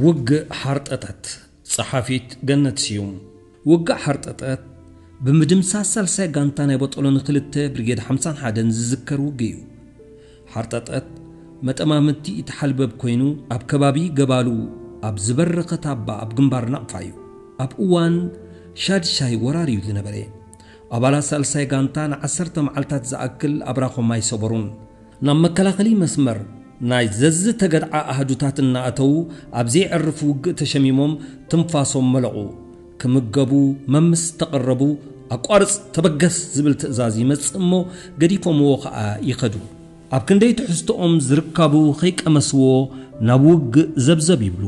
ውግእ ሓርጠጠት። ጸሓፊት ገነት ስዩም። ውግእ ሓርጠጠት ብምድምሳስ ሳልሳይ ጋንታ ናይ ቦጦሎኒ ክልተ ብርጌድ ሓምሳን ሓደን ዝዝከር ውግእ እዩ። ሓርጠጠት መጠማምቲ እቲ ሓልበብ ኮይኑ፣ ኣብ ከባቢ ገባሉ ኣብ ዝበረኸት ኣባ ኣብ ግንባር ናቕፋ እዩ። ኣብ እዋን ሻድሻይ ወራር እዩ ዝነበረ። ኣባላት ሳልሳይ ጋንታ ንዓሰርተ መዓልታት ዝኣክል ኣብራኾም ኣይሰበሩን። ናብ መከላኸሊ መስመር ናይ ዘዝተገድዓ ኣህዱታት እናኣተዉ፣ ኣብ ዘየዕርፍ ውግእ ተሸሚሞም ትንፋሶም መለቑ። ክምገቡ መምስ ተቐረቡ፣ ኣቋርጽ፣ ተበገስ ዝብል ትእዛዝ ይመጽእ እሞ፣ ገዲፎምዎ ኸኣ ይኸዱ። ኣብ ክንደይ ትሕዝቶኦም ዝርካቡ ኸይቀመስዎ ናብ ውግእ ዘብዘብ ይብሉ።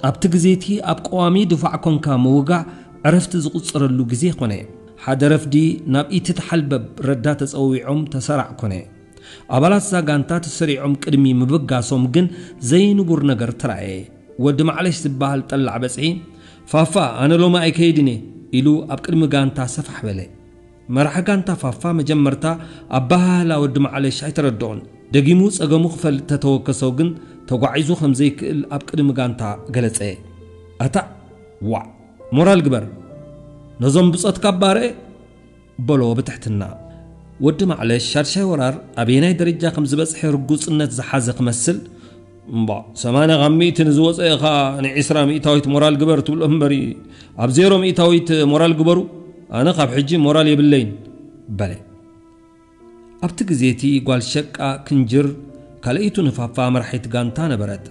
ኣብቲ ግዜ እቲ ኣብ ቀዋሚ ድፋዕ ኮንካ ምውጋእ ዕረፍቲ ዝቑጸረሉ ግዜ ኮነ። ሓደ ረፍዲ ናብ ኢቲ ተሓልበብ ረዳ ተጸዊዖም ተሰራዕ ኮነ። ኣባላት እዛ ጋንታ ተሰሪዖም ቅድሚ ምብጋሶም ግን ዘይንቡር ነገር ተራእየ። ወዲ ማዕለሽ ዝበሃል ጠላዕ በጽሒ፣ "ፋፋ፣ ኣነ ሎሚ ኣይከይድን እየ" ኢሉ ኣብ ቅድሚ ጋንታ ሰፋሕ በለ። መራሒ ጋንታ ፋፋ መጀመርታ ኣበሃህላ ወዲ ማዕለሽ ኣይተረድኦን። ደጊሙ ጸገሙ ክፈልጥ ተተወከሶ ግን ተጓዒዙ ከም ዘይክእል ኣብ ቅድሚ ጋንታ ገለጸ። "ኣታ ዋዕ፣ ሞራል ግበር፣ ነዞም ብጾትካ ኣባርእ" በሎ ብትሕትና። ወዲ ማዕለሽ ሻድሻይ ወራር ኣበየናይ ደረጃ ከም ዝበጽሐ ርጉጽነት ዝሓዘ ክመስል፣ "እምባ፣ ሰማንያ ካብ ሚእቲ ንዝወጸ ኢኻ ንዒስራ ሚእታዊት ሞራል ግበር ትብሎ እምበሪ፣ ኣብ ዜሮ ሚእታዊት ሞራል ግበሩ፣ ኣነ ካብ ሕጂ ሞራል የብለይን" በለ። ኣብቲ ግዜ እቲ ጓል ሸቃ ክንጅር ካልኣይቱ ንፋፋ መራሒት ጋንታ ነበረት።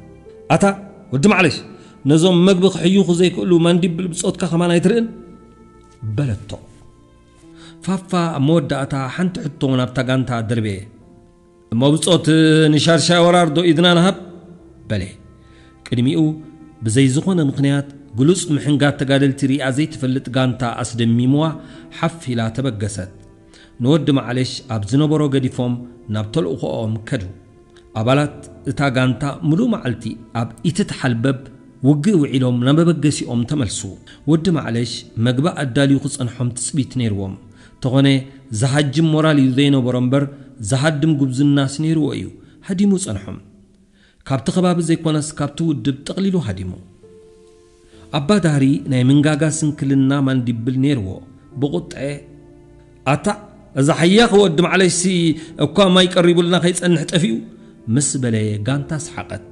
"ኣታ ወዲ ማዕለሽ፣ ነዞም መግቢ ክሕይኹ ዘይክእሉ ማንዲብል ብጾትካ ከማን ኣይትርእን?" በለቶ። ፋፋ ኣብ መወዳእታ ሓንቲ ሕቶ ናብታ ጋንታ ደርበየ። "እሞ ብጾት ንሻድሻይ ወራር ዶ ኢድና ንሃብ?" በለ። ቅድሚኡ ብዘይ ዝኾነ ምኽንያት ግሉጽ ምሕንጋድ ተጋደልቲ ሪኣ ዘይትፈልጥ ጋንታ ኣስደሚምዋ ሓፍ ኢላ ተበገሰት። ንወዲ ማዕለሽ ኣብ ዝነበሮ ገዲፎም ናብ ተልእኾኦም ከዱ። ኣባላት እታ ጋንታ ምሉእ መዓልቲ ኣብ ኢትትሓልበብ ውግእ ውዒሎም ናብ መበገሲኦም ተመልሱ። ወዲ ማዕለሽ መግቢ ኣዳልዩ ክጸንሖም ትጽቢት ነይርዎም። ተኾነ ዝሃጅም ሞራል እዩ ዘይነበሮ እምበር፣ ዝሃድም ጉብዝናስ ነይርዎ እዩ። ሃዲሙ ጸንሖም። ካብቲ ከባቢ ዘይኮነስ ካብቲ ውድብ ጠቕሊሉ ሃዲሙ። ኣባ ዳህሪ ናይ ምንጋጋ ስንክልና ማንዲብል ነይርዎ። ብቑጥዐ፣ "ኣታ፣ እዛ ሓያኽ ወዲ ማዕለሽሲ እኳ ማይ ቀሪቡልና ከይጸንሕ ጠፊኡ" ምስ በለ ጋንታ ሰሓቐት።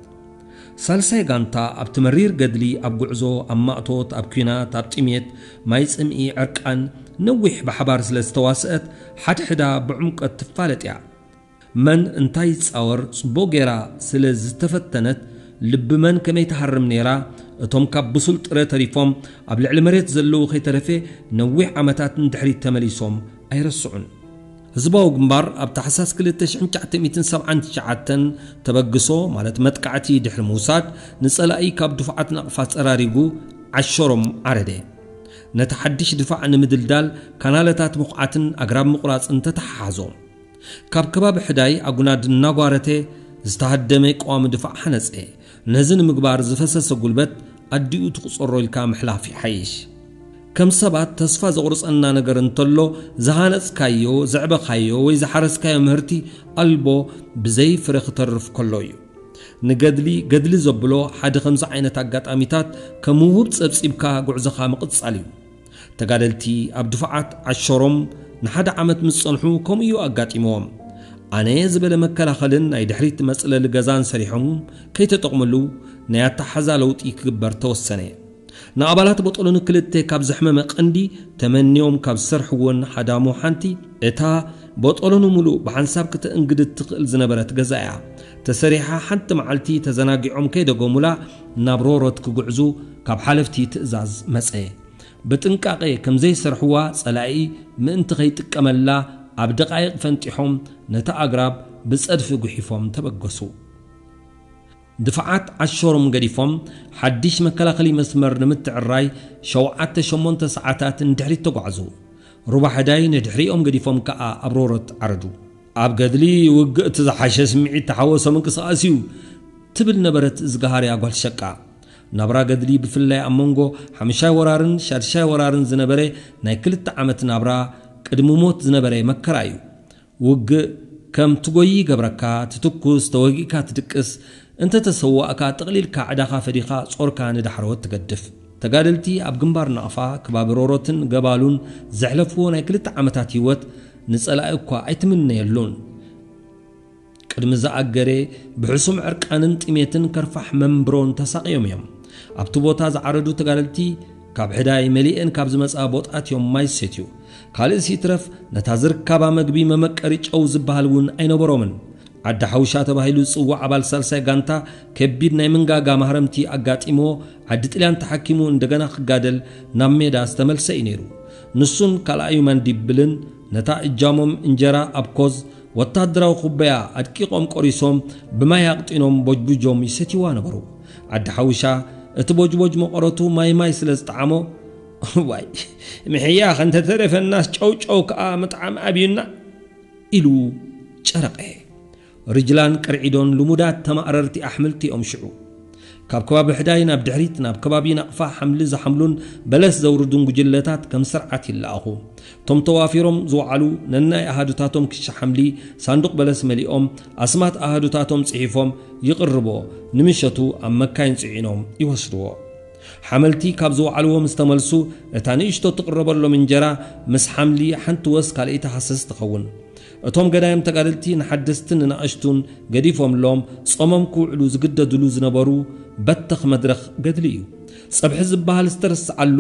ሳልሳይ ጋንታ ኣብቲ መሪር ገድሊ፣ ኣብ ጉዕዞ፣ ኣብ ማእቶት፣ ኣብ ኲናት፣ ኣብ ጥሜት፣ ማይ ጽምኢ፣ ዕርቃን፣ ነዊሕ ብሓባር ስለ ዝተዋስአት፣ ሓድሕዳ ብዕምቆት ትፋለጥ እያ። መን እንታይ ይጻወር ጽቡቕ ጌራ ስለ ዝተፈተነት፣ ልቢ መን ከመይ ትሃርም ነይራ። እቶም ካብ ብሱል ጥረ ተሪፎም ኣብ ልዕሊ መሬት ዘለዉ ከይተረፈ ነዊሕ ዓመታት ንድሕሪት ተመሊሶም ኣይረስዑን። ህዝባዊ ግንባር ኣብ ታሕሳስ ክልተ ሽሕን ትሽዓተ ሚእትን ሰብዓን ትሽዓተን ተበግሶ፣ ማለት መጥቃዕቲ ድሕሪ ምውሳድ፣ ንጸላኢ ካብ ድፉዓት ናቕፋ ጸራሪጉ ዓሸሮም ዓረደ። ነቲ ሓድሽ ድፋዕ ንምድልዳል ካናለታት ምኹዓትን ኣግራብ ምቑራጽን ተተሓሓዞ። ካብ ከባቢ ሕዳይ ኣጉናድ እናጓረተ ዝተሃደመ ቀዋሚ ድፋዕ ሓነጸ። ነዚ ንምግባር ዝፈሰሰ ጉልበት ኣዲኡ ትቑጸሮ ኢልካ ምሕላፍ ይሓይሽ። ከም ሰባት ተስፋ ዘቑርጸና ነገር እንተሎ፣ ዝሃነጽካዮ፣ ዘዕበኻዮ ወይ ዝሓረስካዮ ምህርቲ ኣልቦ ብዘይ ፍረ ክተርፍ ከሎ እዩ። ንገድሊ ገድሊ ዘብሎ ሓደ ከምዚ ዓይነት ኣጋጣሚታት ከም ውሁብ ጸብጺብካ ጉዕዞኻ ምቕጻል እዩ። ተጋደልቲ ኣብ ድፋዓት ዓሸሮም ንሓደ ዓመት ምስ ጸንሑ ከምኡ እዩ ኣጋጢምዎም። ኣነ ዝበለ መከላኸልን ናይ ድሕሪት መጽለሊ ገዛን ሰሪሖም ከይተጠቕምሉ ናይ ኣተሓዛ ለውጢ ክግበር ተወሰነ። ንኣባላት ቦጦሎኒ ክልተ ካብ ዘሕመመ ቀንዲ ተመንዮም ካብ ዝሰርሕዎን ሃዳሙ ሓንቲ እታ ቦጦሎኒ ሙሉእ ብሓንሳብ ክትእንግድ እትኽእል ዝነበረት ገዛ እያ። ተሰሪሓ ሓንቲ መዓልቲ ተዘናጊዖም ከይደገሙላ ናብ ሮሮት ክጉዕዙ ካብ ሓለፍቲ ትእዛዝ መጸ። ብጥንቃቐ ከም ዘይሰርሕዋ ጸላኢ ምእንቲ ከይጥቀመላ ኣብ ደቓይቕ ፈንጢሖም ነቲ ኣግራብ ብጸድፊ ጉሒፎም ተበገሱ። ድፋዓት ዓሸሮም ገዲፎም ሓድሽ መከላኸሊ መስመር ንምትዕራይ ሸውዓተ ሸሞንተ ሰዓታት ንድሕሪት ተጓዕዙ። ሩባ ሕዳይ ንድሕሪኦም ገዲፎም ከኣ ኣብ ሮሮት ዓረዱ። ኣብ ገድሊ ውግእ እቲ ዝሓሸ ስምዒት ተሓወሶ ምንቅስቓስ እዩ ትብል ነበረት ዝገሃርያ ጓል ሸቃ። ናብራ ገድሊ ብፍላይ ኣብ መንጎ ሓምሻይ ወራርን ሻድሻይ ወራርን ዝነበረ ናይ ክልተ ዓመት ናብራ ቅድሚ ሞት ዝነበረ መከራ እዩ። ውግእ ከም ትጎዪ ይገብረካ፣ ትትኩስ፣ ተወጊእካ ትድቅስ፣ እንተ ተሰዋእካ፣ ጥቕሊልካ ዕዳኻ ፈዲኻ ጾርካ ንዳሕረወት ትገድፍ። ተጋደልቲ ኣብ ግንባር ናቕፋ፣ ከባቢ ሮሮትን ገባሉን ዘሕለፍዎ ናይ ክልተ ዓመታት ህይወት ንጸላኢ እኳ ኣይትምነየሉን። ቅድሚ ዝኣገረ፣ ብሕሱም ዕርቃንን ጥሜትን ከርፋሕ መንብሮን ተሳቕዮም እዮም። ኣብቲ ቦታ ዝዓረዱ ተጋደልቲ፣ ካብ ሕዳይ መሊኤን ካብ ዝመጻ ቦጣት እዮም ማይ ዝሰትዩ። ካልእስ ይትረፍ፣ ነታ ዝርካባ መግቢ መመቀሪ ጨው ዝበሃል እውን ኣይነበሮምን። ዓዲ ሓውሻ ተባሂሉ ዝጽዋዕ ኣባል ሳልሳይ ጋንታ፣ ከቢድ ናይ መንጋጋ ማህረምቲ ኣጋጢምዎ፣ ዓዲ ጥልያን ተሓኪሙ እንደገና ክጋደል ናብ ሜዳ ዝተመልሰ እዩ ነይሩ። ንሱን ካልኣዩ ማንዲብልን ነታ እጃሞም እንጀራ ኣብ ኮዝ ወታደራዊ ኩበያ ኣድቂቖም ቆሪሶም፣ ብማይ ኣቕጢኖም ቦጅቡጆም ይሰትይዋ ነበሩ። ዓዲ ሓውሻ፣ እቲ ቦጅቦጅ መቐረቱ ማይ ማይ ስለ ዝጠዓሞ፣ "ዋይ፣ ምሕያኽ እንተተረፈናስ ጨው ጨው ከኣ ምጥዓም ኣብዩና" ኢሉ ጨረቐ። ርጅላን ቅርዒዶን ልሙዳት ተማእረርቲ ኣሕምልቲ እዮም ሽዑ። ካብ ከባቢ ሕዳይ ናብ ድሕሪት፣ ናብ ከባቢ ናቕፋ ሓምሊ ዝሓምሉን በለስ ዘውርዱን ጉጅለታት ከም ስርዓት ይለኣኹ። እቶም ተዋፊሮም ዝወዓሉ ነናይ ኣሃዱታቶም ክሻ ሓምሊ ሳንዱቕ በለስ መሊኦም፣ ኣስማት ኣሃዱታቶም ጽሒፎም ይቕርቦ፣ ንምሸቱ ኣብ መካይን ጽዒኖም ይወስድዎ። ሓመልቲ ካብ ዝወዓልዎ ምስ ተመልሱ፣ እታ ንእሽቶ ትቕረበሎም እንጀራ ምስ ሓምሊ ሓንቲ ወስ ካልኣይቲ ሃሰስ ትኸውን። እቶም ገዳይም ተጋደልቲ ንሓደስትን ንናእሽቱን ገዲፎምሎም ጾሞም ክውዕሉ ዝግደድሉ ዝነበሩ በተኽ መድረኽ ገድሊ እዩ። ጸብሒ ዝበሃል ዝተረስዓሉ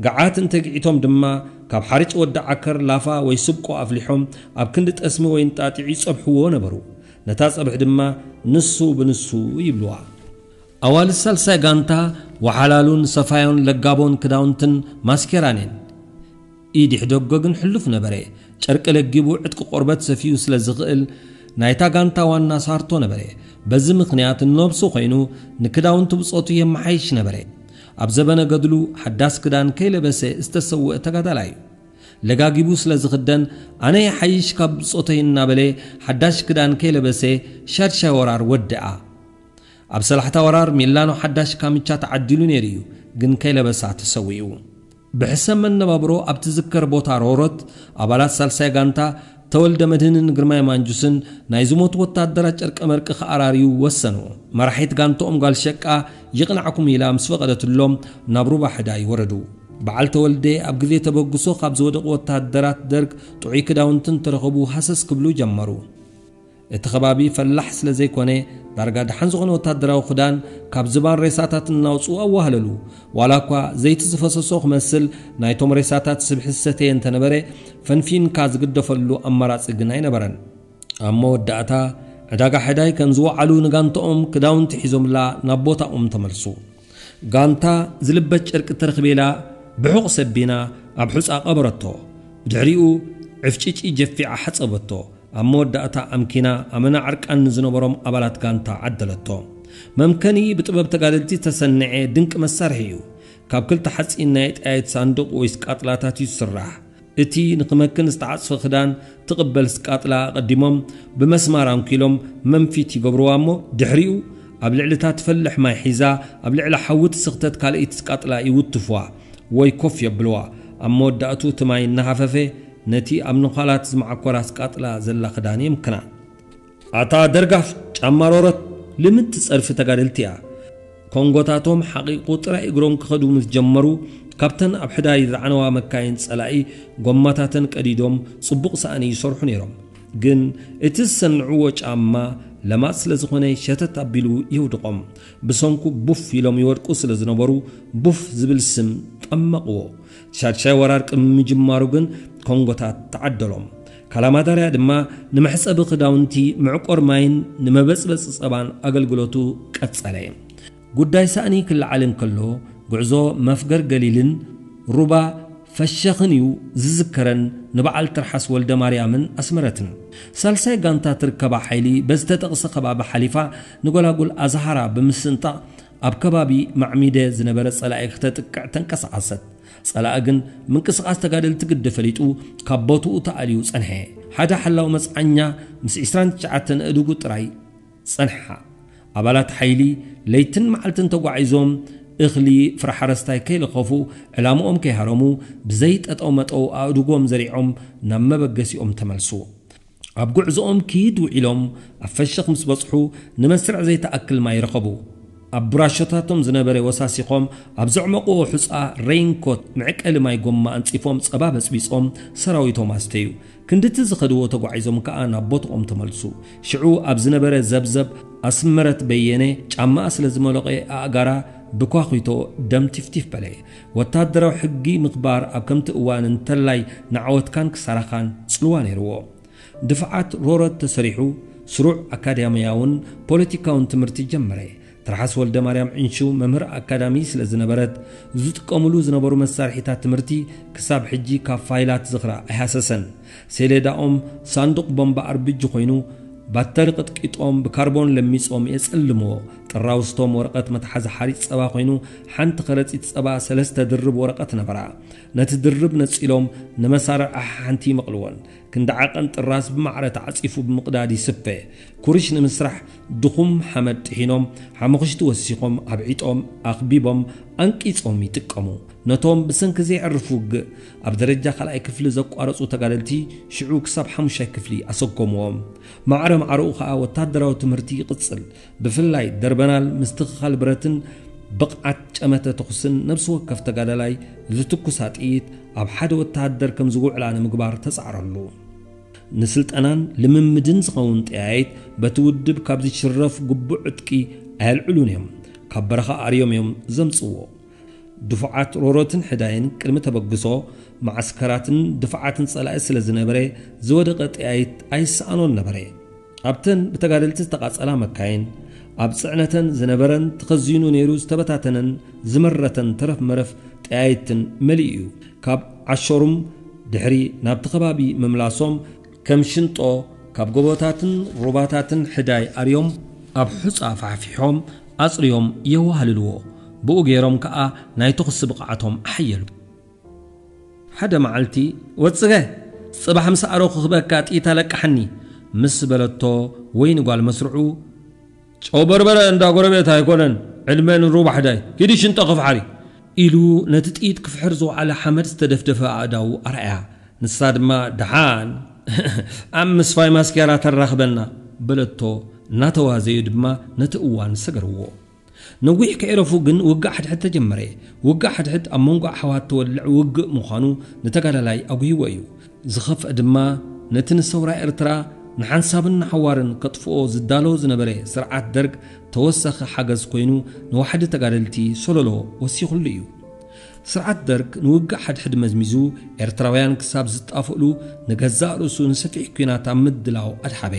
ገዓት እንተግዒቶም ድማ፣ ካብ ሓርጭ ወዲ ዓከር ላፋ ወይ ስብቆ ኣፍሊሖም ኣብ ክንዲ ጠስሚ ወይ እንጣጢዕ ይጸብሕዎ ነበሩ። ነታ ጸብሒ ድማ ንሱ ብንሱ ይብልዋ። ኣዋልድ ሳልሳይ ጋንታ ወሓላሉን ሰፋዮን ለጋቦን ክዳውንትን ማስኬራን እየን። ኢድ ይሕደጎ ግን ሕሉፍ ነበረ። ጨርቂ ለጊቡ ዕጥቂ ቆርበት ሰፊዩ ስለ ዝኽእል፣ ናይታ ጋንታ ዋና ሳርቶ ነበረ። በዚ ምኽንያት ንነብሱ ኮይኑ ንክዳውንቲ ብጾቱ የመሓይሽ ነበረ። ኣብ ዘበነ ገድሉ ሓዳስ ክዳን ከይለበሰ ዝተሰውአ ተጋዳላይ እዩ። ለጋጊቡ ስለ ዝኽደን፣ ኣነ ይሓይሽ ካብ ብጾተይ እናበለ ሓዳሽ ክዳን ከይለበሰ ሻድሻይ ወራር ወድኣ። ኣብ ሰላሕታ ወራር ሚላኖ ሓዳሽ ካምቻ ተዓዲሉ ነይሩ እዩ፣ ግን ከይለበሳ ተሰዊኡ። ብሕሰም መነባብሮ ኣብ ትዝከር ቦታ ሮሮት፣ ኣባላት ሳልሳይ ጋንታ ተወልደ መድህንን ግርማይ ማንጁስን ናይ ዝሞቱ ወታደራት ጨርቀ መርቂ ክኣራርዩ ወሰኑ። መራሒት ጋንትኦም ጓል ሸቃ ይቕናዕኩም ኢላ ምስ ፈቐደትሎም ናብ ሩባ ሕዳይ ወረዱ። በዓል ተወልደ ኣብ ግዜ ተበግሶ ካብ ዝወደቑ ወታደራት ደርግ ጥዑይ ክዳውንትን ተረኸቡ ሃሰስ ክብሉ ጀመሩ። እቲ ከባቢ ፈላሕ ስለ ዘይኮነ፣ ዳርጋ ደሓን ዝኾነ ወታደራዊ ክዳን ካብ ዝባን ሬሳታት እናውጽኡ ኣዋህለሉ። ዋላ እኳ ዘይቲ ዝፈሰሶ ክመስል ናይቶም ሬሳታት ስብሒ ዝሰተየ እንተነበረ፣ ፈንፊንካ ዝግደፈሉ ኣማራጺ ግን ኣይነበረን። ኣብ መወዳእታ፣ ዕዳጋ ሕዳይ ከም ዝወዓሉ ንጋንትኦም ክዳውንቲ ሒዞምላ ናብ ቦታኦም ተመልሱ። ጋንታ ዝልበስ ጨርቂ ተረኽቤላ ብሑቕ ሰቢና ኣብ ሑጻ ቀበረቶ። ብድሕሪኡ ዕፍጭጪ ጀፊዓ ሓጸበቶ። ኣብ መወዳእታ ኣምኪና ኣመና ዕርቃን ንዝነበሮም ኣባላት ጋንታ ዓደለቶ። መምከኒ ብጥበብ ተጋደልቲ ዝተሰንዐ ድንቂ መሳርሒ እዩ። ካብ ክልተ ሓጺን ናይ ጠያይት ሳንዱቕ ወይ ስቃጥላታት እዩ ዝስራሕ። እቲ ንኽመክን ዝተዓጽፈ ክዳን ትቕበል ስቃጥላ ኣቐዲሞም ብመስማር ኣንኪሎም መንፊት ይገብርዋ እሞ፣ ድሕሪኡ ኣብ ልዕሊ እታ ትፈልሕ ማይ ሒዛ ኣብ ልዕሊ ሓዊ ትስኽተት ካልኣይቲ ስቃጥላ ይውትፍዋ ወይ ኮፍ የብልዋ። ኣብ መወዳእቱ እቲ ማይ እናሃፈፈ ነቲ ኣብ ነዃላት ዝመዓኮራ ስቃጥላ ዘላ ክዳን የምክና። ኣታ ደርጋፍ ጫማ ሮሮት ልምንቲ ጸርፊ ተጋደልቲ እያ። ኮንጎታቶም ሓቒቑ ጥራይ እግሮም ክኸዱ ምስ ጀመሩ፣ ካብተን ኣብ ሕዳይ ዝዓነዋ መካይን ጸላኢ ጎማታተን ቀዲዶም ጽቡቕ ሳእኒ ይሰርሑ ነይሮም። ግን እቲ ዝሰንዕዎ ጫማ ለማጽ ስለ ዝኾነ ሸተት ኣቢሉ የውድቖም። ብሰንኩ ቡፍ ኢሎም ይወድቁ ስለ ዝነበሩ ቡፍ ዝብል ስም ጠመቕዎ። ሻድሻይ ወራር ቅድሚ ምጅማሩ ግን ኮንጎታት ተዓደሎም። ካላማዳርያ ድማ ንመሕጸቢ ክዳውንቲ፣ መዕቆር ማይን ንመበጽበጺ ጸባን ኣገልግሎቱ ቀጸለ። ጉዳይ ሳእኒ ክለዓል እንከሎ፣ ጉዕዞ መፍገር ገሊልን ሩባ ፈሸኽን እዩ ዝዝከረን ንበዓል ትርሓስ ወልደ ማርያምን ኣስመረትን። ሳልሳይ ጋንታ ትርከባ ሓይሊ በዝተጠቕሰ ከባቢ ሓሊፋ ንጎላጉል ኣዝሃራ ብምስንጣቕ ኣብ ከባቢ ማዕሚደ ዝነበረ ጸላኢ ክተጥቅዕ ተንቀሳቐሰት። ጸላኢ ግን ምንቅስቓስ ተጋደልቲ ግዲ ፈሊጡ ካብ ቦትኡ ተኣልዩ ጸንሐ። ሓደ ሓላው መጽዓኛ ምስ ዕስራን ትሽዓተን ኣእዱጉ ጥራይ ጸንሓ። ኣባላት ሓይሊ ለይትን መዓልትን ተጓዒዞም እኽሊ ፍረ ሓረስታይ ከይለኸፉ ዕላምኦም ከይሃረሙ ብዘይ ጠጠው መጠው ኣእዱጎም ዘሪዖም ናብ መበገሲኦም ተመልሱ። ኣብ ጉዕዞኦም ክይድ ውዒሎም ኣብ ፈሸኽ ምስ በጽሑ፣ ንመስርዕ ዘይተኣክል ማይ ረኸቡ። ኣብ ብራሾታቶም ዝነበረ ወሳሲኾም፣ ኣብ ዘዕመቕዎ ሑጻ ሬይንኮት፣ መዕቀሊ ማይ ጎማ ኣንጺፎም፣ ጸባ በጽቢጾም ሰራዊቶም ኣስተዩ። ክንድቲ ዝኸድዎ ተጓዒዞም ከኣ ናብ ቦትኦም ተመልሱ። ሽዑ ኣብ ዝነበረ ዘብዘብ፣ ኣስመረት በየነ ጫማኣ ስለ ዝመለቐ፣ ኣእጋራ ብኳኺቶ ደም ቲፍቲፍ በለ። ወታደራዊ ሕጊ ምኽባር ኣብ ከምቲ እዋን እንተላይ ንዓወትካን ክሳራኻን ጽልዋ ነይርዎ። ድፍዓት ሮረት ተሰሪሑ፣ ስሩዕ ኣካዳሚያውን ፖለቲካውን ትምህርቲ ጀመረ። ትርሓስ ወልደ ማርያም ዕንሹ መምህር ኣካዳሚ ስለ ዝነበረት፣ ዝጥቀምሉ ዝነበሩ መሳርሒታት ትምህርቲ ክሳብ ሕጂ ካብ ፋይላት ዝኽራ ኣይሃሰሰን። ሴሌዳኦም ሳንዱቕ ቦምባ ኣርብጂ ኮይኑ፣ ባተሪ ቀጥቂጦም ብካርቦን ለሚጾም የጸልምዎ። ጥራውስቶም ወረቐት መትሓዚ ሓሪጭ ጸባ ኮይኑ፣ ሓንቲ ከረጺት ጸባ ሰለስተ ድርብ ወረቐት ነበራ። ነቲ ድርብ ነጺሎም ንመሳርዕ ሓንቲ ይመቕልዎን። ክንዲ ዓቐን ጥራስ ብማዕረ ተዓጺፉ ብምቕዳድ ይስፈ። ኩርሽ ንምስራሕ ድኹም ሓመድ ጥሒኖም፣ ሓሙኽሽቲ ወሲኾም፣ ኣብዒጦም፣ ኣኽቢቦም፣ ኣንቂጾም ይጥቀሙ። ነቶም ብሰንኪ ዘየዕርፍ ውግእ ኣብ ደረጃ ካልኣይ ክፍሊ ዘቋረጹ ተጋደልቲ ሽዑ ክሳብ ሓሙሻይ ክፍሊ ኣሰጎምዎም። ማዕረ ማዕረኡ ኸኣ ወታደራዊ ትምህርቲ ይቕጽል። ብፍላይ ደርበናል ምስትኽኻል ብረትን ብቕዓት ጨመተ ተኹስን ነብሲ ወከፍ ተጋዳላይ ዝትኩሳ ጥይት ኣብ ሓደ ወተሃደር ከም ዝውዕላ ንምግባር ተጻዕረሉ። ንስልጠናን ልምምድን ዝኸውን ጠያይት በቲ ውድብ ካብ ዝሽረፍ ግቡእ ዕጥቂ ኣየልዕሉን እዮም። ካብ በረኻ ኣርዮም እዮም ዘምጽዎ። ድፉዓት ሮሮትን ሕዳይን ቅድሚ ተበግሶ፣ መዓስከራትን ድፋዓትን ጸላኢ ስለ ዝነበረ፣ ዝወደቐ ጠያይት ኣይሰኣኖን ነበረ። ኣብተን ብተጋደልቲ ዝተቓጸላ መካይን፣ ኣብ ጽዕነተን ዝነበረን ተኸዚኑ ነይሩ ዝተበታተነን ዝመረተን ተረፍ መረፍ ጠያይትን መሊኡ እዩ። ካብ ዓሸሩም ድሕሪ ናብቲ ከባቢ ምምላሶም፣ ከም ሽንጦ ካብ ጎቦታትን ሩባታትን ሕዳይ ኣርዮም ኣብ ሑጻ ፋሕፊሖም ኣጽርዮም የዋህልልዎ። ብኡ ገይሮም ከኣ ናይ ተኹሲ ብቕዓቶም ኣሐየሉ። ሓደ መዓልቲ፣ "ወጽገ፣ ጽባሕ ምስ ኣረኹ ክበካ ጥይት ኣለቅሓኒ" ምስ በለቶ፣ ወይኒ ጓል መስርዑ፣ "ጨው በርበረ እንዳ ጎረቤት ኣይኮነን፣ ዕድመ ንሩባ ሕዳይ፣ ሂዲ ሽንጠ ክፍሓሪ" ኢሉ ነቲ ጥይት ክፍሕር ዝወዓለ ሓመድ ዝተደፍደፈ ኣእዳዉ ኣርኣያ። ንሳ ድማ፣ "ደሓን፣ ኣብ ምስፋይ ማስኬራ ተራኽበና" በለቶ። እናተዋዘዩ ድማ ነቲ እዋን ሰገርዎ። ነዊሕ ከይረፉ ግን ውግእ ሓድሕድ ተጀመረ። ውግእ ሓድሕድ ኣብ መንጎ ኣሕዋት ትወልዕ ውግእ ምዃኑ ንተጋዳላይ ኣጉሂዎ እዩ። ዝኸፍአ ድማ ነቲ ንሰውራ ኤርትራ ንሓንሳብን ንሓዋርን ከጥፍኦ ዝዳሎ ዝነበረ ስርዓት ደርግ ተወሳኺ ሓገዝ ኮይኑ ንዋሕዲ ተጋደልቲ ሶሎሎ ወሲኹሉ እዩ። ስርዓት ደርግ ንውግእ ሓድሕድ መዝሚዙ ኤርትራውያን ክሳብ ዝጣፍእሉ ንገዛእ ርእሱ ንሰፊሕ ኲናት ኣብ ምድላው ኣድሓበ።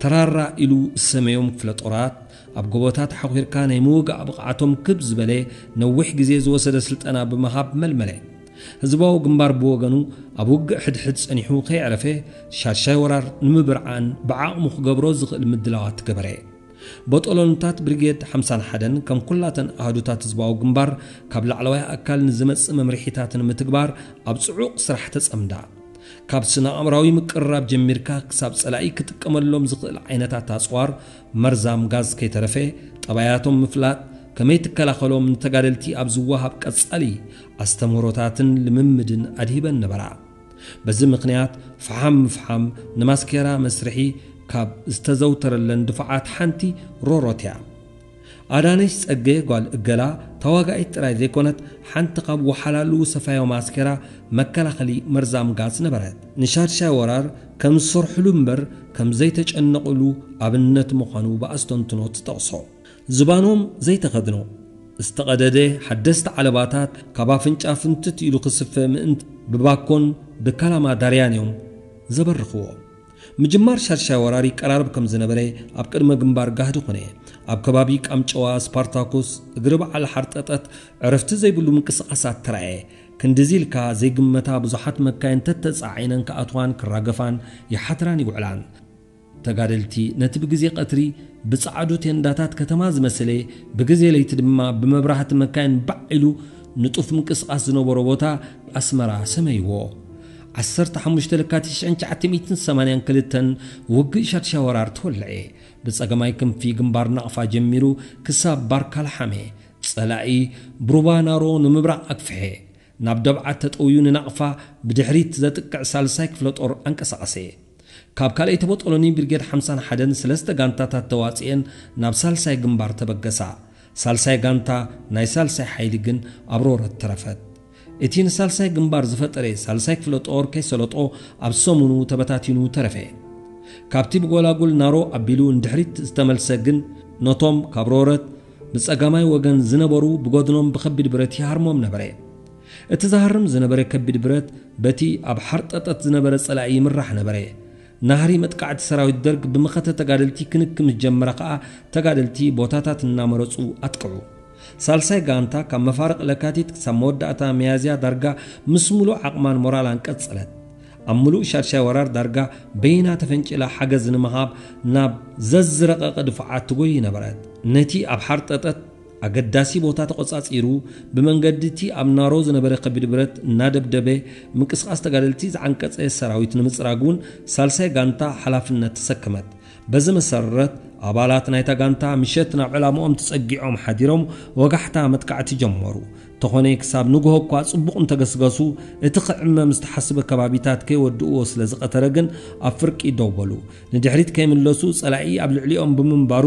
ተራራ ኢሉ ዝሰመዮም ክፍለ ጦራት ኣብ ጎቦታት ሓኺርካ ናይ ምውጋእ ብቕዓቶም ክብ ዝበለ ነዊሕ ግዜ ዝወሰደ ስልጠና ብምሃብ መልመለ። ህዝባዊ ግንባር ብወገኑ ኣብ ውግእ ሕድሕድ ጸኒሑ ከየዕረፈ ሻድሻይ ወራር ንምብርዓን ብዓቕሙ ክገብሮ ዝኽእል ምድላዋት ገበረ። ቦጦሎንታት ብሪጌድ ሓምሳን ሓደን ከም ኩላተን ኣሃዱታት ህዝባዊ ግንባር ካብ ላዕለዋይ ኣካል ንዝመጽእ መምርሒታት ንምትግባር ኣብ ጽዑቕ ስራሕ ተጸምዳ። ካብ ስነ ኣእምራዊ ምቅርራብ ጀሚርካ ክሳብ ጸላኢ ክጥቀመሎም ዝኽእል ዓይነታት ኣጽዋር፣ መርዛም ጋዝ ከይተረፈ፣ ጠባያቶም ምፍላጥ፣ ከመይ ትከላኸሎም ንተጋደልቲ ኣብ ዝወሃብ ቀጻሊ ኣስተምህሮታትን ልምምድን ኣድሂበን ነበራ። በዚ ምኽንያት፣ ፈሓም ምፍሓም ንማስኬራ መስርሒ ካብ ዝተዘውተረለን ድፋዓት ሓንቲ ሮሮት እያ። ኣዳነሽ ጸጌ ጓል እገላ ተዋጋኢት ጥራይ ዘይኮነት፣ ሓንቲ ካብ ወሓላሉ ሰፋዮ ማስኬራ መከላኸሊ መርዛም ጋዝ ነበረት። ንሻድሻይ ወራር ከም ዝሰርሕሉ እምበር ከም ዘይተጨነቑሉ ኣብነት ምዃኑ ብኣስተንትኖ ትጠቕሶ። ዝባኖም ዘይተኸድኖ፣ ዝተቐደደ ሓደስቲ ዓለባታት ካብ ኣፍንጫ ፍንትት ኢሉ ክስፈ ምእንቲ ብባኮን ብካላማ ዳርያን እዮም ዘበርኽዎ። ምጅማር ሻድሻይ ወራር ይቀራረብ ከም ዝነበረ ኣብ ቅድመ ግንባር ጋህዲ ኮነ። ኣብ ከባቢ ቃምጨዋ፣ ስፓርታኩስ፣ እግሪ በዓል ሓርጠጠት ዕረፍቲ ዘይብሉ ምንቅስቓሳት ተራእየ። ክንድዚ ኢልካ ዘይግመታ ብዙሓት መካይን ተተጻዒነን ክኣትዋን ክራገፋን ይሓድራን ይውዕላን። ተጋደልቲ ነቲ ብግዜ ቀትሪ ብጸዓዱ ቴንዳታት ከተማ ዝመስለ፣ ብግዜ ለይቲ ድማ ብመብራህቲ መካይን ባዕ ኢሉ ንጡፍ ምንቅስቓስ ዝነበሮ ቦታ ኣስመራ ሰመይዎ። ዓሰርተ ሓሙሽተ ለካቲት ሽሕን ትሽዓተ ሚእትን ሰማንያን ክልተን ውግእ ሻድሻይ ወራር ተወልዐ። ብጸገማይ ክንፊ ግንባር ናቕፋ ጀሚሩ ክሳብ ባርካ ለሓመ። ጸላኢ ብሩባ ናሮ ንምብራቕ ኣግፍሐ። ናብ ደብዓት ተጠውዩ ንናቕፋ ብድሕሪት ዘጥቅዕ ሳልሳይ ክፍለ ጦር ኣንቀሳቐሰ። ካብ ካልኣይቲ ቦጦሎኒ ብርጌድ ሓምሳን ሓደን ሰለስተ ጋንታታት ተዋጺኤን ናብ ሳልሳይ ግንባር ተበገሳ። ሳልሳይ ጋንታ ናይ ሳልሳይ ሓይሊ ግን ኣብ ሮረት ተረፈት። እቲ ንሳልሳይ ግንባር ዝፈጠረ ሳልሳይ ክፍለ ጦር ከይሰለጦ ኣብ ሰሙኑ ተበታቲኑ ተረፈ። ካብቲ ብጎላጉል ናሮ ኣቢሉ ንድሕሪት ዝተመልሰ ግን ነቶም ካብ ሮረት ብጸጋማይ ወገን ዝነበሩ ብጎድኖም ብከቢድ ብረት ይሃርሞም ነበረ። እቲ ዝሃርም ዝነበረ ከቢድ ብረት በቲ ኣብ ሓርጠጠት ዝነበረ ጸላኢ ይምራሕ ነበረ። ናህሪ መጥቃዕቲ ሰራዊት ደርግ ብመኸተ ተጋደልቲ ክንክ ምስ ጀመረ ከኣ ተጋደልቲ ቦታታት እናመረጹ ኣጥቅዑ። ሳልሳይ ጋንታ ካብ መፋርቕ ለካቲት ክሳብ መወዳእታ ሚያዝያ ዳርጋ ምስ ሙሉእ ዓቕማን ሞራላን ቀጸለት። ኣብ ሙሉእ ሻድሻይ ወራር ዳርጋ በይና ተፈንጭላ ሓገዝ ንምሃብ ናብ ዘዝረቐቐ ድፋዓት ትጎይ ነበረት። ነቲ ኣብ ሓርጠጠት ኣገዳሲ ቦታ ተቖጻጺሩ፣ ብመንገዲ እቲ ኣብ ናሮ ዝነበረ ከቢድ ብረት እናደብደበ ምንቅስቓስ ተጋደልቲ ዝዓንቀጸ ሰራዊት ንምጽራግ እውን ሳልሳይ ጋንታ ሓላፍነት ተሰከመት። በዚ መሰረት ኣባላት ናይታ ጋንታ ምሸት ናብ ዕላምኦም ተጸጊዖም ሓዲሮም ወጋሕታ መጥቃዕቲ ጀመሩ። ተኾነ ክሳብ ንግሆ እኳ ጽቡቕ እንተገስገሱ፣ እቲ ክዕመም ዝተሓስበ ከባቢታት ከይወድእዎ ስለ ዝቐተረ ግን ኣብ ፍርቂ ደው በሉ። ንድሕሪት ከይምለሱ ጸላኢ ኣብ ልዕሊኦም ብምንባሩ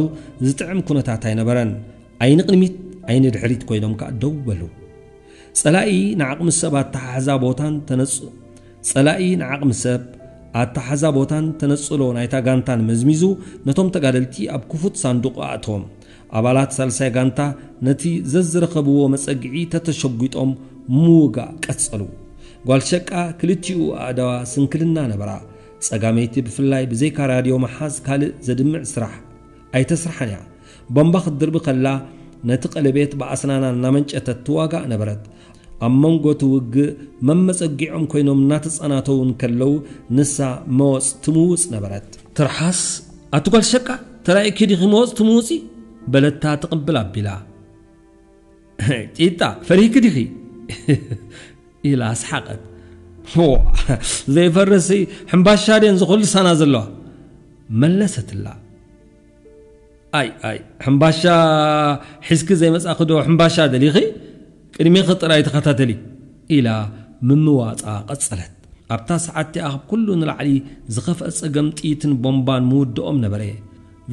ዝጥዕም ኩነታት ኣይነበረን። ኣይንቕድሚት ኣይንድሕሪት ኮይኖም ከኣ ደው በሉ። ጸላኢ ንዓቕሚ ሰብ ኣተሓሕዛ ቦታን ተነጽ-፣ ጸላኢ ንዓቕሚ ሰብ ኣተሓሕዛ ቦታን ተነጽሎ ናይታ ጋንታን መዝሚዙ ነቶም ተጋደልቲ ኣብ ክፉት ሳንዱቕ ኣእተዎም። ኣባላት ሳልሳይ ጋንታ ነቲ ዘዝረኸብዎ መጸግዒ ተተሸጒጦም ምውጋእ ቀጸሉ። ጓል ሸቃ ክልቲኡ ኣእዳዋ ስንክልና ነበራ። ጸጋመይቲ ብፍላይ ብዘይካ ራድዮ ምሓዝ ካልእ ዘድምዕ ስራሕ ኣይተስርሓን እያ። ቦምባ ክትድርቢ ከላ ነቲ ቀለቤት ብኣስናና እናመንጨተት ትዋጋእ ነበረት። ኣብ መንጎ እቲ ውግእ መመጸጊዖም ኮይኖም እናተጸናተዉ እንከለዉ ንሳ መወጽ ትምውጽ ነበረት። ትርሓስ፣ ኣቲ ጓል ሸቃ፣ ተራእኪ ዲኺ መወጽ ትምውጺ? በለታ ትቕብል ኣቢላ። ጢጣ፣ ፈሪህኪ ዲኺ? ኢላ ኣስሓቐት። ዋ፣ ዘይፈርሲ ሕምባሻ ድየን ዝኹልሳና ዘለዋ? መለሰትላ። ኣይ፣ ኣይ፣ ሕምባሻ ሒዝኪ ዘይመጻኺ ዶ ሕምባሻ ደሊኺ? ቅድሜኺ ጥራይ ተኸታተሊ፣ ኢላ ምምዋጻ ቀጸለት። ኣብታ ሰዓት እቲኣ ካብ ኩሉ ንላዕሊ ዝኸፍአ ጸገም ጥይትን ቦምባን ምውድኦም ነበረ።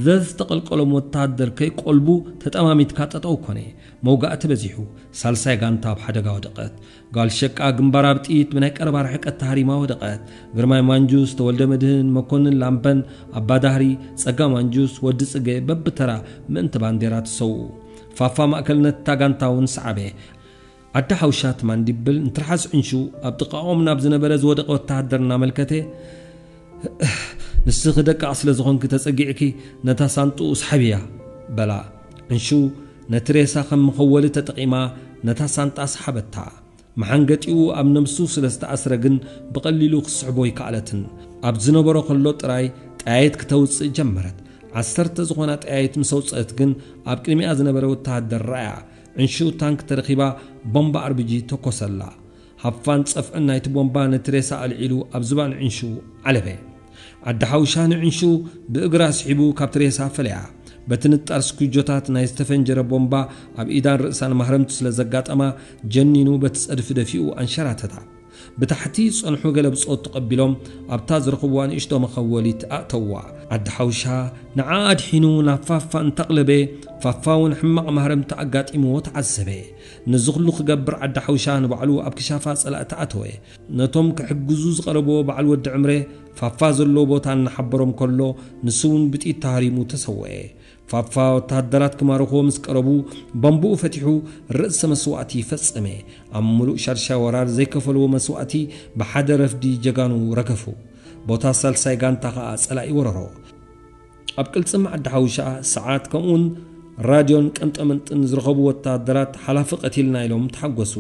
ዘዝተቐልቀሎም ወተሃደር ከይቆልቡ ተጠማሚትካ ጠጠው ኮነ። መውጋእቲ በዚሑ፣ ሳልሳይ ጋንታ ኣብ ሓደጋ ወደቐት። ጓል ሸቃ ግንባራ ብጥይት ብናይ ቀረባ ርሕቀት ተሃሪማ ወደቐት። ግርማይ ማንጁስ፣ ተወልደ መድህን፣ መኮንን ላምበን፣ ኣባዳህሪ፣ ጸጋ ማንጁስ፣ ወዲ ጽገ በብተራ ምእንቲ ባንዴራ ተሰውኡ። ፋፋ ማእከልነት እታ ጋንታ እውን ሰዓበ። ኣደ ሓውሻ ትማን ዲብል ንትርሓስ ዕንሹ ኣብ ጥቓኦም ናብ ዝነበረ ዝወደቐ ወተሃደር እናመልከተ፣ "ንስኺ ደቃቕ ስለ ዝኾንኪ ተጸጊዕኪ ነታ ሳንጥኡ ስሓብያ" በላ። ዕንሹ ነቲ ሬሳ ከም መኸወሊ ተጠቒማ ነታ ሳንጣ ሰሓበታ። መሓንገጢኡ ኣብ ነብሱ ስለ ዝተኣስረ ግን ብቐሊሉ ክስሕቦ ኣይከኣለትን። ኣብ ዝነበሮ ከሎ ጥራይ ጠያይት ክተውጽእ ጀመረት። ዓሰርተ ዝኾና ጠያይት ምስ ኣውጽአት ግን ኣብ ቅድሚኣ ዝነበረ ወተሃደር ረኣያ። ዕንሹ ታንክ ተረኺባ ቦምባ ኣርቢጂ ተኮሰላ። ሃፋን ጸፍዕን ናይቲ ቦምባ ነቲ ሬሳ ኣልዒሉ ኣብ ዝባን ዕንሹ ዓለበ። ዓዲ ሓውሻ ንዕንሹ ብእግራ ስሒቡ ካብቲ ሬሳ ፈለያ። በቲ ንጣር ስኩጆታት ናይ ዝተፈንጀረ ቦምባ ኣብ ኢዳን ርእሳን ማህረምቲ ስለ ዘጋጠማ ጀኒኑ በቲ ጸድፊ ደፊኡ ኣንሸራተታ። ብታሕቲ ዝጸንሑ ገለ ብጾት ተቐቢሎም ኣብታ ዝረኽብዋ ንእሽቶ መኸወሊት ኣእተውዋ። ዓዲ ሓውሻ ንዓ ኣድሒኑ ናብ ፋፋ እንተቕለበ፣ ፋፋ እውን ሕማቕ ማህረምቲ ኣጋጢምዎ ተዓዘበ። ነዚ ኩሉ ክገብር ዓዲ ሓውሻ ንባዕሉ ኣብ ክሻፋ ጸላእቲ ኣተወ። ነቶም ክሕግዙ ዝቐረብዎ በዓል ወዲ ዕምረ ፋፋ ዘለዎ ቦታ እናሓበሮም ከሎ ንሱ እውን ብጥይት ተሃሪሙ ተሰወአ። ፋፋ ወተሃደራት ክማርኽዎ ምስ ቀረቡ ቦምብኡ ፈቲሑ ርእሰ መስዋእቲ ፈጸመ። ኣብ ምሉእ ሻድሻይ ወራር ዘይከፈልዎ መስዋእቲ ብሓደ ረፍዲ ጀጋኑ ረገፉ። ቦታ ሳልሳይ ጋንታ ኸኣ ጸላኢ ወረሮ። ኣብ ቅልጽም ዓዲ ሓውሻ ሰዓት ከምኡውን ራድዮን ቀንጠመንጥን ዝረኸቡ ወተሃደራት ሓላፊ ቀቲልና ኢሎም ተሓጎሱ።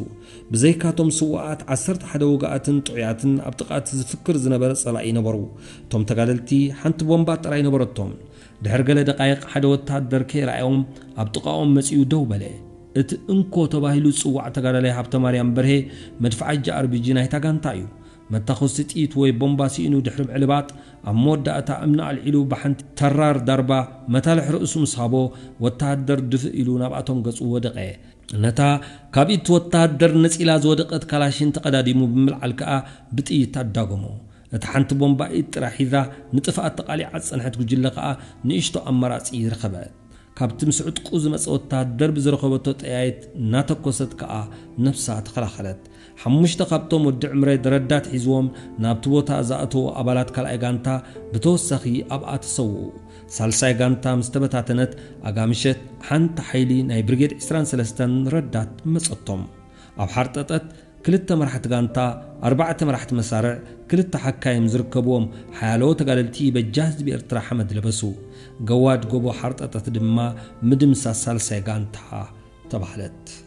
ብዘይካቶም ስዉኣት ዓሰርተ ሓደ ውጉኣትን ጥዑያትን ኣብ ጥቓ እቲ ዝፍክር ዝነበረ ጸላኢ ነበሩ። እቶም ተጋደልቲ ሓንቲ ቦምባ ጥራይ ነበረቶም። ድሕሪ ገለ ደቃይቕ ሓደ ወተሃደር ከይረኣዮም ኣብ ጥቓኦም መጺኡ ደው በለ። እቲ እንኮ ተባሂሉ ዝጽዋዕ ተጋዳላይ ሃብተማርያም በርሄ መድፍዓጂ ኣርቢጂ ናይታ ጋንታ እዩ። መታኾሲ ጥይት ወይ ቦምባ ስኢኑ ድሕሪ ምዕልባጥ ኣብ መወዳእታ እምኒ ኣልዒሉ ብሓንቲ ተራር ዳርባ መታልሕ ርእሱ ምስ ሃቦ ወተሃደር ድፍእ ኢሉ ናብኣቶም ገጹ ወደቐ። ነታ ካብ ኢድ ወተሃደር ነጺላ ዝወደቐት ካላሽን ተቐዳዲሙ ብምልዓል ከኣ ብጥይት ኣዳጎሞ። እታ ሓንቲ ቦምባ ኢድ ጥራሕ ሒዛ ንጥፍኣት ተቓሊዓ ዝጸንሐት ጉጅለ ከኣ ንእሽቶ ኣማራጺ ረኸበት። ካብቲ ምስ ዕጥቁ ዝመጸ ወተሃደር ብዝረኸበቶ ጠያይት እናተኮሰት ከኣ ነብሳ ተኸላኸለት። ሓሙሽተ ካብቶም ወዲ ዕምረይ ረዳት ሒዝዎም ናብቲ ቦታ ዝኣተዉ ኣባላት ካልኣይ ጋንታ ብተወሳኺ ኣብኣ ተሰውኡ። ሳልሳይ ጋንታ ምስ ተበታተነት፣ ኣጋ ምሸት ሓንቲ ሓይሊ ናይ ብርጌድ ዕስራን ሰለስተን ረዳት መጸቶም። ኣብ ሓርጠጠት ክልተ መራሕቲ ጋንታ፣ ኣርባዕተ መራሕቲ መሳርዕ፣ ክልተ ሓካይም ዝርከብዎም ሓያሎ ተጋደልቲ በጃ ህዝቢ ኤርትራ ሓመድ ለበሱ። ገዋድ ጎቦ ሓርጠጠት ድማ ምድምሳስ ሳልሳይ ጋንታ ተባህለት።